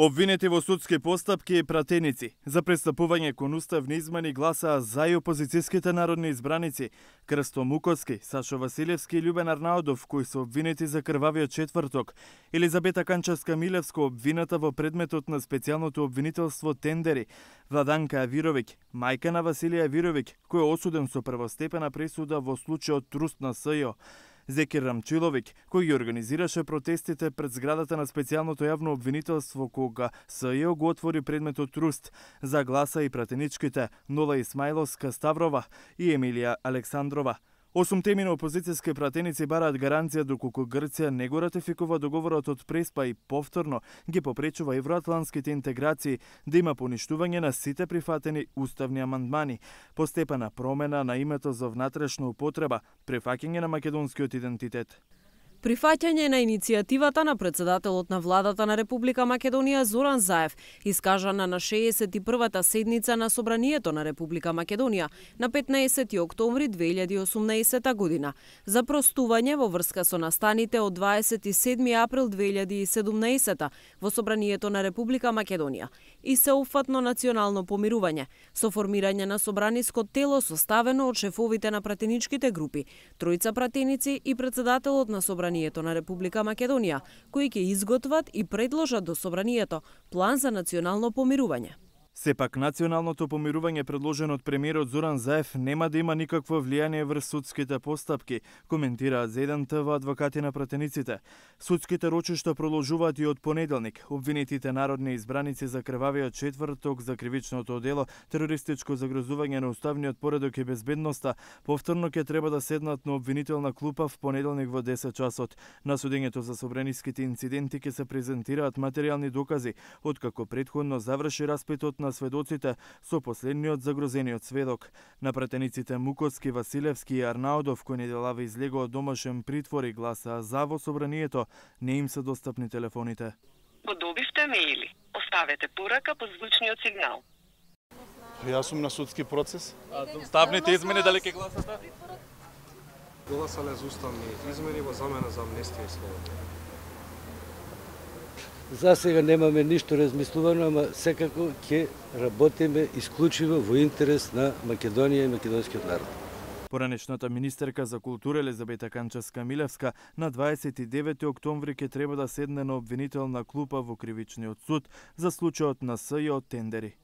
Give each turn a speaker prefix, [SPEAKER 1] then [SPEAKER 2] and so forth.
[SPEAKER 1] Обвинети во судски постапки и пратеници за престапување кон уставни измени гласаа за и опозицијските народни избраници Крсто Муковски, Сашо Василевски и Љубен Арнаудов, кои се обвинети за крвавиот четврток, Елизабета Канчевска-Милевска обвината во предметот на специјалното обвинителство тендери, Владанка Авировиќ, мајка на Василија Авировиќ, кој е осуден со првостепена пресуда во случајот Труст на СЈО, Зекир Рамчиловиќ, кој ги организираше протестите пред зградата на специјалното јавно обвинителство кога СЈО го отвори предметот Труст, за гласа и пратеничките Нола Исмаиловска Ставрова и Емилија Александрова. 8 теми на опозицијски пратеници бараат гаранција доколку Грција не го ратификува договорот од Преспа и повторно ги попречува евроатлантските интеграции да има поништување на сите прифатени уставни амандмани, постепена промена на името за внатрешна употреба, прифаќање на македонскиот идентитет.
[SPEAKER 2] Прифаќање на иницијативата на председателот на владата на Република Македонија Зоран Заев, искажана на 61-та седница на Собранието на Република Македонија на 15 октомври 2018 година, за простување во врска со настаните од 27 април 2017 во Собранието на Република Македонија и сеопфатно национално помирување, со формирање на собраниско тело составено од шефовите на пратеничките групи, тројца пратеници и председателот на Собранието на Република Македонија, кои ќе изготват и предложат до Собранието план за национално помирување.
[SPEAKER 1] Сепак, националното помирување предложено од премиерот Зоран Заев нема да има никакво влијание врз судските постапки, коментираат за 1 ТВ адвокати на пратениците. Судските рочишта продолжуваат и од понеделник. Обвинетите народни избраници за крвавиот четврток за кривичното дело, терористичко загрозување на уставниот поредок и безбедноста, повторно ќе треба да седнат на обвинителна клупа в понеделник во 10 часот. На судењето за собраниските инциденти ќе се презентираат материјални докази, откако претходно заврши распитот на сведоците со последниот загрозениот сведок. На пратениците Муковски, Василевски и Арнаудов, кои неделава излегува од домашен притвор и гласаа за во собранието, не им се достапни телефоните.
[SPEAKER 3] Подобивте мејли. Оставете порака по звучниот сигнал.
[SPEAKER 4] Јас сум на судски процес.
[SPEAKER 1] Уставните измени дали ќе гласате?
[SPEAKER 5] Гласале за уставни измени во замена за амнестија и слобода.
[SPEAKER 6] За сега немаме ништо размислувано, ама секако ќе работиме исклучиво во интерес на Македонија и македонскиот народ.
[SPEAKER 1] Поранешната министерка за култура Елизабета Канчевска-Милевска на 29 октомври ќе треба да седне на обвинителна клупа во кривичниот суд за случајот на СЈО тендери.